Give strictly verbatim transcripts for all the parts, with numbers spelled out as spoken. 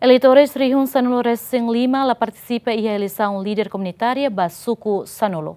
Eleitores rihun sanulu resin lima la partisipa iha eleisaun líder komunitária ba suku sanulu.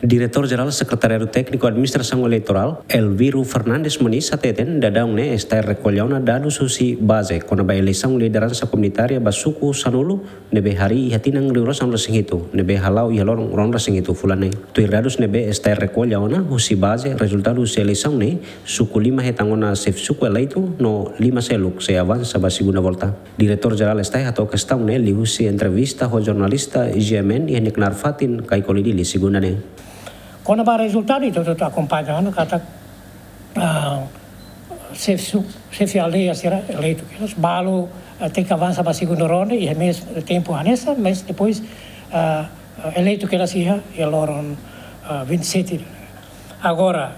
Diretór Jerál Sekretariadu Tékniku Administrasaun Eleitorál, Elviro Fernandes Moniz, hateten daudaun ne'e STAE rekolla ona dadus husi baze kona-ba eleisaun lideransa komunitária ba suku sanulu ne'ebé harii iha tinan rihun rua sanulu resin hitu, ne'ebé hala'o iha loron ruanulu resin hitu fulan ne'e. Tuir dadus ne'ebé STAE rekolla ona husi baze, rezultadu husi eleisaun ne'e, suku lima hetan ona xefe suku eleitu no lima seluk sei avansa ba segunda volta. Diretór Jerál STAE hato'o kestaun ne'e liuhusi entrevista ho jornalista GMN iha nia knaar fatin Kaikoli, Dili, segunda ne'e. Kona-ba rezultadu, ita hotu akompaña ona katak, ah, xefe su-, xefe aldeia sira eleitu kedas, balu, ah, tenke avansa ba segunda ronda, iha meiu tempu hanesan, mas depois, ah, ah, eleitu kedas iha, iha loron, ah, vinte e sete. Agora,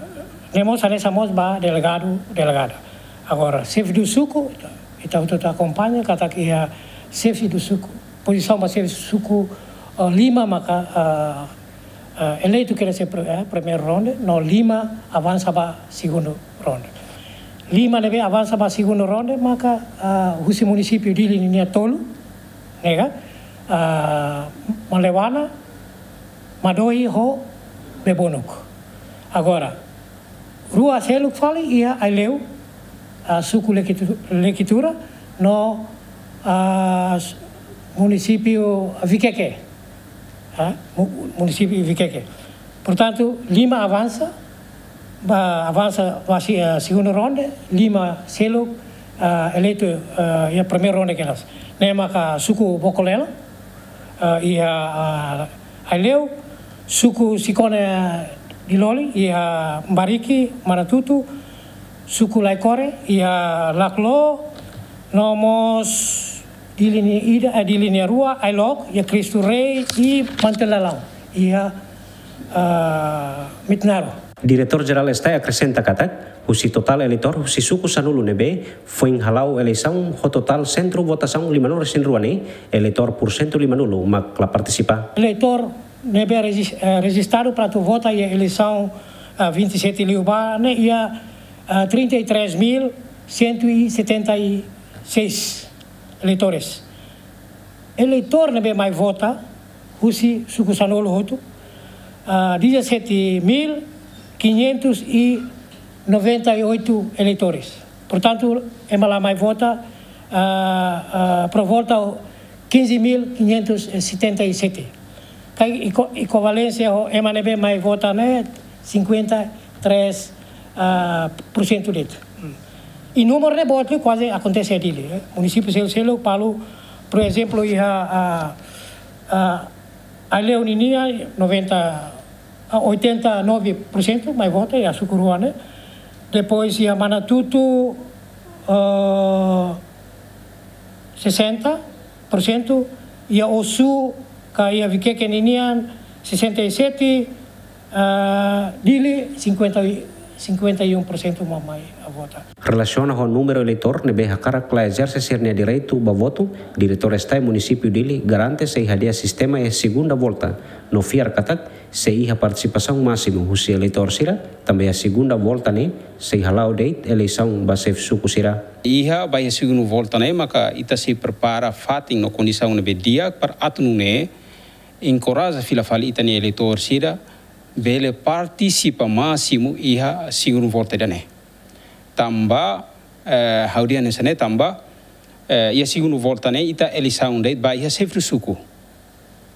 ne'e mós hanesan mós ba delegadu, delegada. Agora, xefe suku, ita hotu akompaña katak iha xefe suku, pozisaun ba xefe suku, ah, lima maka, ah, ah, eleitu kedas iha pri-, eh, primeira ronda, no lima avansa ba segunda ronda. Lima ne'ebé avansa ba segunda ronda maka, ah, husi munisípiu Dili ninia tolu, ne'e ka, ah, Malewana, Madohi ho Bebonuk. Agora, rua seluk fali iha Aileu, ah, suku Lekitu-, Lekitura, no, ah, s-, munisípiu Vikeke. Ah, mu-, munisípiu Vikeke. Portantu, lima avansa, ba, avansa ba si-, ah, segunda ronda, lima seluk, ah, eleitu, ah, iha primeira ronda kedas. Ne'e maka suku Bokolelo, ah, iha, ah, Aileu, suku Sikone Diloli iha Bariki, Manatutu, suku Laikore iha Laklo, no mós Dili nia ida, eh, Dili nia rua, Ailok, iha Cristo Rei, i Mantelalão, iha, ah, Mitnaro. Diretór Jerál STAE akresenta katak, husi totál eleitór husi suku sanulu ne'ebé foin hala'o eleisaun ho totál sentru votasaun limanulu resin rua ne'e, eleitór porsentu limanulu mak la partisipa. Eleitór ne'ebé rejis-, eh, rejistadu para atu vota iha eleisaun, ah, vinte e sete liubá ne'e iha, ah, trinta e três mil cento e setenta e seis eleitores. Eleitór ne'ebé mai vota husi suku sanulu hotu, ah, dezassete mil quinhentos e noventa e oito eleitores. Portantu, ema la mai vota, ah, ah, por volta quinze mil quinhentos e setenta e sete. Ka eko-, ekovalénsia ho ema ne'ebé mai vota ne'e cinquenta e três, ah, por cento de'it. Hmm. I númeru ne'e boot liu kuaze akontese iha Dili, eh. Munisípiu seluk-seluk, balu, por ezemplu, iha, ah, ah, Aileu ninia noventa, ah, oitenta e nove por cento mai vota iha suku rua ne'e. Depois iha Manatutu, ah, sessenta por cento, iha Osu ka iha Vikeke ninian sessenta e sete, ah, Dili cinquenta, cinquenta e um por cento mak mai vota. Relasiona ho númeru eleitór ne'ebé hakarak la ezerse sira-nia direitu ba votu, Diretór STAE Munisípiu Dili garante sei hadi'a sistema iha segunda volta, no fiar katak sei iha partisipasaun másimu husi eleitór sira, tanba iha segunda volta ne'e sei hala'o de'it eleisaun ba xefe suku sira. Iha ba iha segunda volta ne'e maka ita sei prepara fatin no kondisaun ne'ebé di'ak para atu nune'e enkoraja fila fali ita-nia eleitór sira bele partisipa másimu iha segunda volta ida-ne'e. Tanba, eh, ha'u dehan hanesan ne'e tanba, eh, iha segunda volta ne'e ita eleisaun de'it ba iha xefe suku.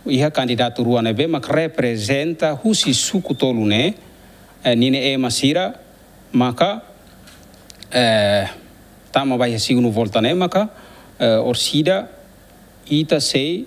Iha kandidatu rua ne'ebé mak reprezenta husi suku tolu ne'e, eh, ninia ema sira, maka, eh, tama ba iha segunda volta ne'e maka, eh, orsida ita sei,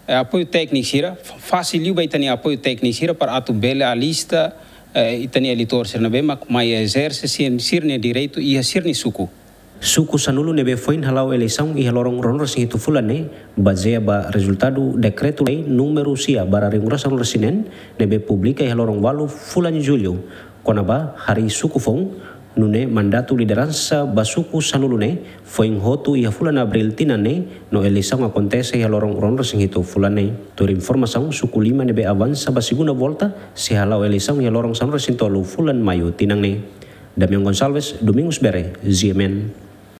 eh, apoiu tékniku sira, fa-, fasil liu ba ita-nia apoiu tékniku sira para atu bele alista, eh, ita-nia eleitór sira ne'ebé mak mai ezerse sir-, sira-nia direitu iha sira-nia suku. Suku sanulu ne'ebé foin hala'o eleisaun iha loron ruanulu resin hitu fulan ne'e, bazeia ba rezultadu dekretu-lei númeru sia barra rihun rua sanulu resin neen, ne'ebé publika iha loron ualu fulan Jullu, kona-ba harii suku foun, nune'e mandatu lideransa ba suku sanulu ne'e foin hotu iha fulan Abríl tinan ne'e, no eleisaun akontese iha loron ruanulu resin hitu fulan ne'e. Tuir informasaun, suku lima ne'ebé avansa ba segunda volta sei hala'o eleisaun iha loron sanulu resin tolu fulan Maiu tinan ne'e. Damian Gonçalves, Domingos Bere, GMN.